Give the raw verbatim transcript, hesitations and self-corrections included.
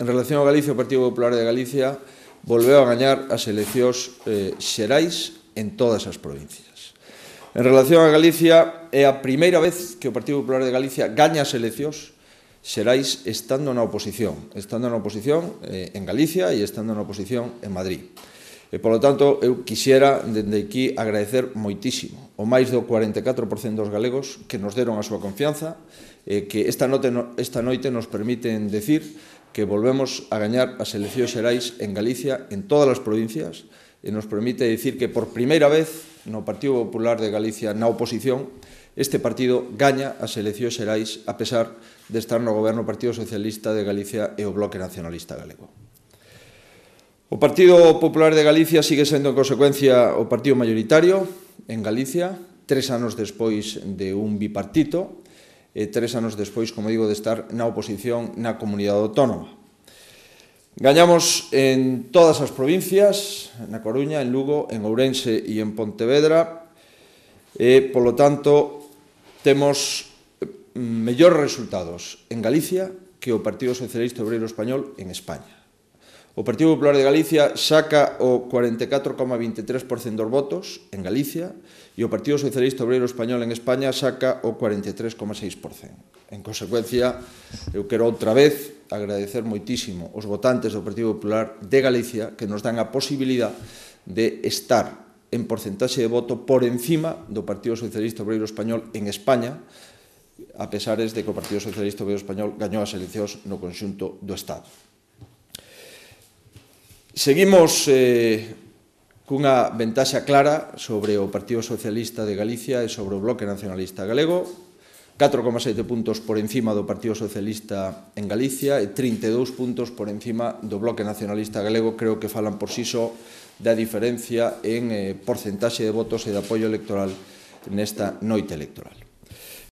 en relación a Galicia, o Partido Popular de Galicia volveu a gañar as eleccións eh, xerais en todas as provincias. En relación a Galicia, é a primeira vez que o Partido Popular de Galicia gaña as eleccións xerais estando na oposición, estando na oposición eh, en Galicia e estando na oposición en Madrid. E, polo tanto, eu quixera, dende aquí, agradecer moitísimo o máis do cuarenta e catro por cento dos galegos que nos deron a súa confianza, e que esta noite, esta noite nos permiten decir que volvemos a gañar as eleccións xerais en Galicia, en todas as provincias, e nos permite dicir que, por primeira vez, no Partido Popular de Galicia na oposición, este partido gaña as eleccións xerais a pesar de estar no goberno o Partido Socialista de Galicia e o Bloque Nacionalista Galego. O Partido Popular de Galicia sigue sendo, en consecuencia, o partido mayoritario en Galicia, tres anos despois de un bipartito, e tres anos despois, como digo, de estar na oposición na comunidade autónoma. Gañamos en todas as provincias, na Coruña, en Lugo, en Ourense e en Pontevedra, e, polo tanto, temos mellores resultados en Galicia que o Partido Socialista Obreiro Español en España. O Partido Popular de Galicia saca o cuarenta e catro coma vinte e tres por cento dos votos en Galicia e o Partido Socialista Obreiro Español en España saca o cuarenta e tres coma seis por cento. En consecuencia, eu quero outra vez agradecer moitísimo os votantes do Partido Popular de Galicia que nos dan a posibilidad de estar en porcentaxe de voto por encima do Partido Socialista Obreiro Español en España, a pesares de que o Partido Socialista Obreiro Español gañou as eleccións no conxunto do Estado. Seguimos eh, cunha ventaxa clara sobre o Partido Socialista de Galicia e sobre o Bloque Nacionalista Galego, catro coma sete puntos por encima do Partido Socialista en Galicia e trinta e dous puntos por encima do Bloque Nacionalista Galego. Creo que falan por si só da diferencia en eh, porcentaxe de votos e de apoio electoral nesta noite electoral.